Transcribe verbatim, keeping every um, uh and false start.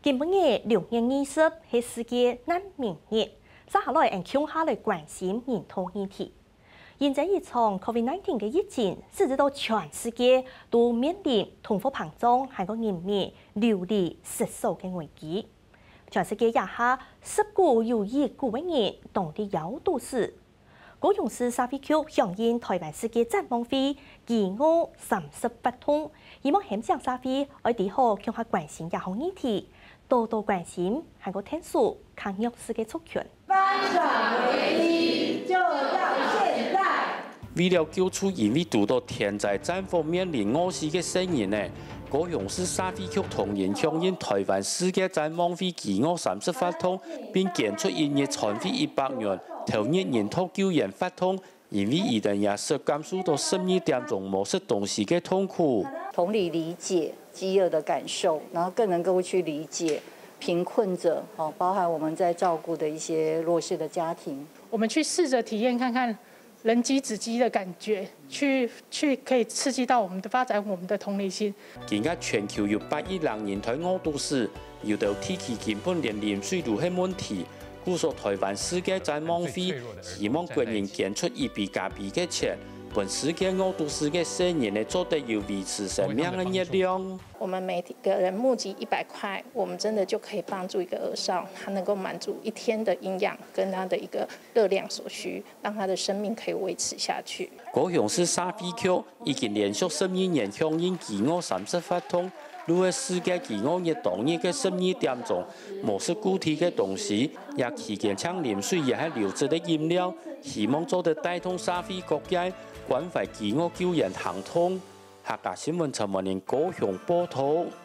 今晡日六月二十係世界難民日，接下來，𠊎等共下來關心人道議題。因著這場COVID nineteen个疫情，使得到全世界都面臨通貨膨脹，還過人民流離失所个危機。全世界這下十股有一股个人當在枵肚屎。 高雄市社會局響應台灣世界展望會飢餓三十活動，希望喊醒社會愛知好共下關心這項議題，多多關心還過𢯭手較弱勢个族群。翻轉危機就要現在。為了救助因為堵著天災戰火面臨餓死个細人仔，高雄市社會局同仁響應台灣世界展望會飢餓三十活動，並捐出一日餐費一百元，投入人道救援活動， 因為佢等也識感受到十二點鐘無食東西个痛苦。同理理解飢餓的感受，然後更能夠去理解贫困者，哦，包含我們在照顧的一些弱勢的家庭。我們去試著體驗看看人飢止飢的感覺，去，去可以刺激到我們的，發展我們的同理心。今下全球有八億人在枵肚屎，有兜地區根本連啉水都係問題， 故所台灣世界展望會希望國人捐出一杯咖啡个錢，分世界枵肚屎个細人仔做得有維持生命个熱量。我們每個人募集一百塊，我們真的就可以幫助一個兒少，他能夠滿足一天的營養跟他的一個熱量所需，讓他的生命可以維持下去。高雄市社會局 已經連續十二年響應飢餓三十活動，就係世界飢餓日當日个十二點鐘，無食固體个東西，也期間淨啉水也係流質个飲料，希望做得帶動社會各界關懷飢餓救援行動。客家新聞陳文玲高雄報導。